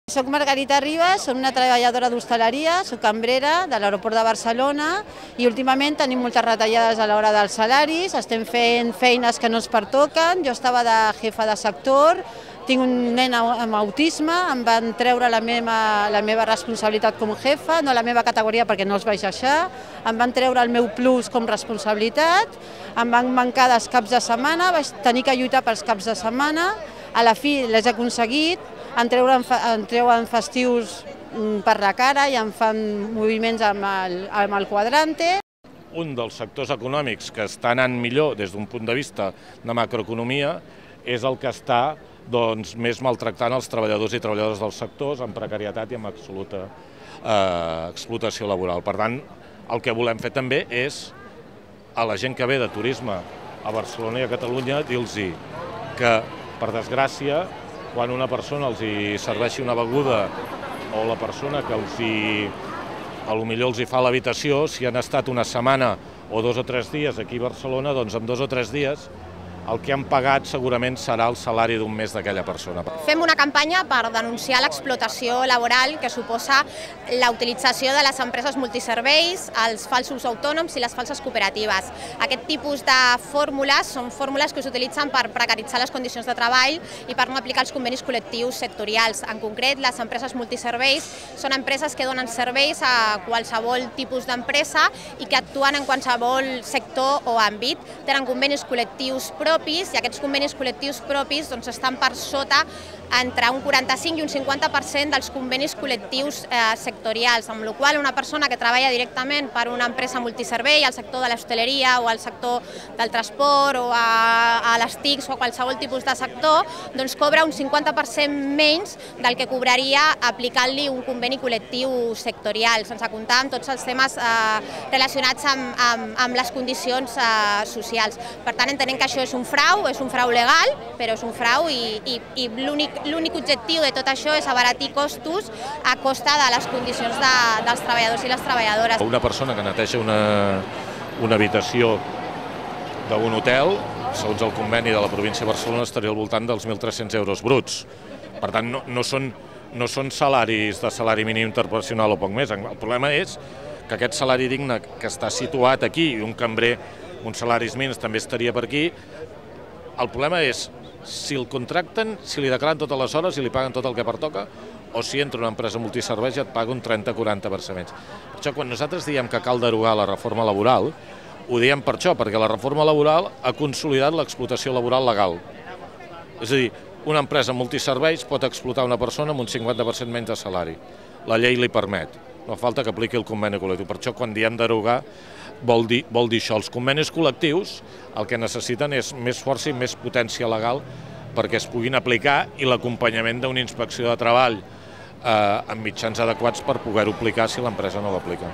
Soc Margarita Ribas, soc una treballadora d'hostaleria, soc cambrera de l'aeroport de Barcelona i últimament tenim moltes retallades a l'hora dels salaris, estem fent feines que no ens pertoquen. Jo estava de jefa de sector, tinc un nen amb autisme, em van treure la meva responsabilitat com a jefa, no la meva categoria perquè no els vaig deixar, em van treure el meu plus com responsabilitat, em van mancar dels caps de setmana, vaig tenir que lluitar pels caps de setmana, a la fi les he aconseguit, em treuen festius per la cara i em fan moviments amb el quadrante. Un dels sectors econòmics que està anant millor des d'un punt de vista de macroeconomia és el que està més maltractant els treballadors i treballadores dels sectors amb precarietat i amb absoluta explotació laboral. Per tant, el que volem fer també és a la gent que ve de turisme a Barcelona i a Catalunya dir-los que, per desgràcia, quan una persona els hi serveixi una beguda o la persona que potser els hi fa l'habitació, si han estat una setmana o 2 o 3 dies aquí a Barcelona, doncs en 2 o 3 dies el que han pagat segurament serà el salari d'un mes d'aquella persona. Fem una campanya per denunciar l'explotació laboral que suposa la utilització de les empreses multiserveis, els falsos autònoms i les falses cooperatives. Aquest tipus de fórmules són fórmules que s'utilitzen per precaritzar les condicions de treball i per no aplicar els convenis col·lectius sectorials. En concret, les empreses multiserveis són empreses que donen serveis a qualsevol tipus d'empresa i que actuen en qualsevol sector o àmbit. Tenen convenis col·lectius propis i aquests convenis col·lectius propis estan per sota entre un 45 i un 50% dels convenis col·lectius sectorials, amb la qual cosa una persona que treballa directament per una empresa multiservei al sector de l'hostaleria o al sector del transport o a les TICs o a qualsevol tipus de sector, cobra un 50% menys del que cobraria aplicant-li un conveni col·lectiu sectorial, sense comptar amb tots els temes relacionats amb les condicions socials. Per tant, entenem que això és un frau legal, però és un frau i l'únic objectiu de tot això és abaratir costos a costa de les condicions dels treballadors i les treballadores. Una persona que neteja una habitació d'un hotel, segons el conveni de la província de Barcelona, estaria al voltant dels 1.300 euros bruts. Per tant, no són salaris de salari mínim interprofessional o poc més. El problema és que aquest salari digne que està situat aquí, i un cambrer, uns salaris mínims també estaria per aquí, el problema és si el contracten, si li declaren totes les hores i li paguen tot el que pertoca, o si entra una empresa multiserveis i et paga un 30-40% menys. Per això, quan nosaltres diem que cal derogar la reforma laboral, ho diem per això, perquè la reforma laboral ha consolidat l'explotació laboral legal. És a dir, una empresa multiserveis pot explotar una persona amb un 50% menys de salari. La llei li permet, no falta que apliqui el conveni col·lectiu. Per això, quan diem derogar, vol dir això. Els convenis col·lectius el que necessiten és més força i més potència legal perquè es puguin aplicar i l'acompanyament d'una inspecció de treball amb mitjans adequats per poder-ho aplicar si l'empresa no l'aplica.